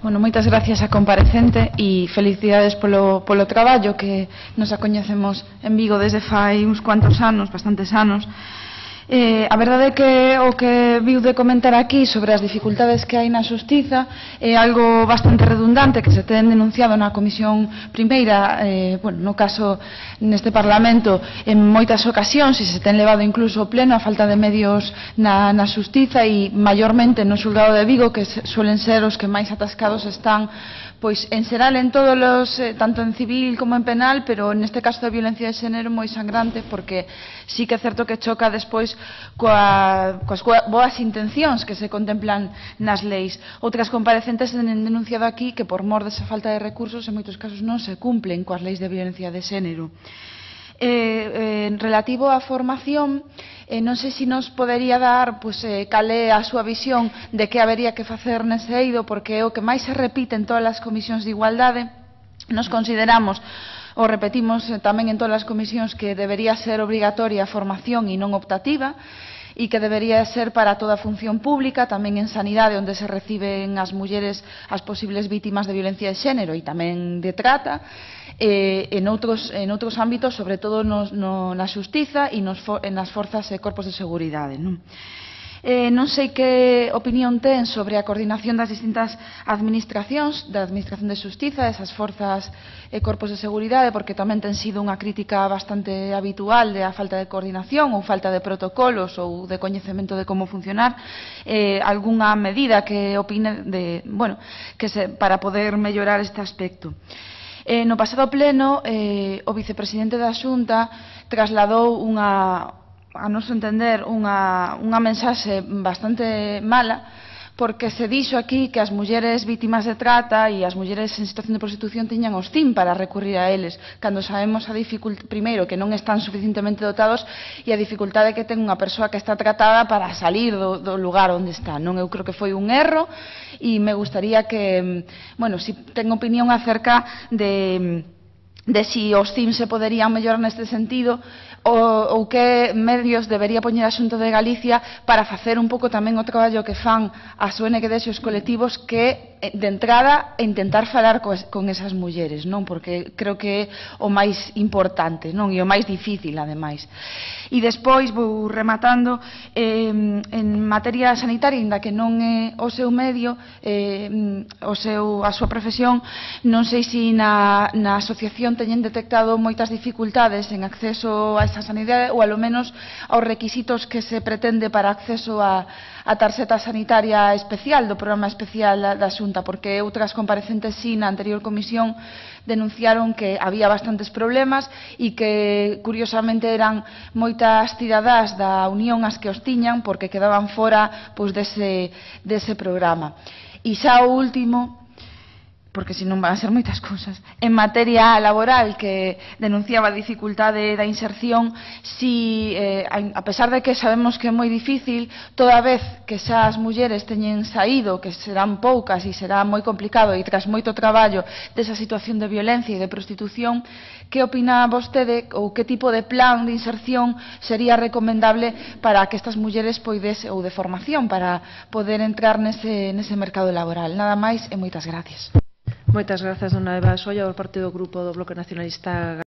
Bueno, moitas gracias á comparecente e felicidades polo traballo que nos acoñecemos en Vigo desde fai uns cuantos anos, bastantes anos. A verdade é que o que viu de comentar aquí sobre as dificultades que hai na xustiza é algo bastante redundante que se ten denunciado na Comisión Primeira, no caso neste Parlamento en moitas ocasións, e se ten levado incluso ao pleno a falta de medios na xustiza e maiormente no xulgado de Vigo, que suelen ser os que máis atascados están, pois en xeral en todos os, tanto en civil como en penal, pero neste caso de violencia de xénero moi sangrante, porque sí que é certo que choca despois coas boas intencións que se contemplan nas leis. Outras comparecentes han denunciado aquí que por mor desa falta de recursos en moitos casos non se cumplen coas leis de violencia de xénero. Relativo á formación, non sei se nos podería dar cal é a súa visión de que habería que facer nese eido, porque é o que máis se repite en todas as comisións de igualdade. Nos consideramos, o repetimos tamén en todas as comisións, que debería ser obrigatoria a formación e non optativa, e que debería ser para toda a función pública, tamén en sanidade, onde se reciben as mulleres as posibles vítimas de violencia de xénero e tamén de trata, en outros ámbitos, sobre todo na xustiza e nas forzas e corpos de seguridade. Non sei que opinión ten sobre a coordinación das distintas administracións, da Administración de Xustiza, esas forzas e corpos de seguridade, porque tamén ten sido unha crítica bastante habitual de a falta de coordinación ou falta de protocolos ou de coñecemento de como funcionar. Algunha medida que opine para poder mellorar este aspecto. No pasado pleno, o vicepresidente da Xunta trasladou a noso entender, unha mensaxe bastante mala, porque se dixo aquí que as mulleres vítimas de trata e as mulleres en situación de prostitución tiñan os CIM para recurrir a eles, cando sabemos primeiro que non están suficientemente dotados e a dificultade que ten unha persoa que está tratada para salir do lugar onde está. Eu creo que foi un erro e me gustaría que, si ten opinión acerca de si os CIM se poderían mellorar neste sentido, ou que medios debería poñer a Xunta de Galicia para facer un pouco tamén o traballo que fan as ONGs e os colectivos, que de entrada intentar falar con esas mulleres, porque creo que é o máis importante e o máis difícil, ademais. E despois vou rematando, en materia sanitaria, inda que non é o seu medio, a súa profesión, non sei se na asociación teñen detectado moitas dificultades en acceso a esa sanidade, ou alo menos aos requisitos que se pretende para acceso a tarxeta sanitaria especial do programa especial da Xunta, porque outras comparecentes na anterior comisión denunciaron que había bastantes problemas e que curiosamente eran moitas cidadás da Unión as que os tiñan, porque quedaban fora dese programa. E xa o último, porque senón van a ser moitas cousas, en materia laboral, que denunciaba a dificultade da inserción, a pesar de que sabemos que é moi difícil, toda vez que xa as mulleres teñen saído, que serán poucas e será moi complicado, e tras moito traballo desa situación de violencia e de prostitución, que opina vostede, ou que tipo de plan de inserción sería recomendable para que estas mulleres poidesen, ou de formación, para poder entrar nese mercado laboral? Nada máis e moitas gracias. Moitas grazas, dona Eva Solla, do Partido Grupo do Bloque Nacionalista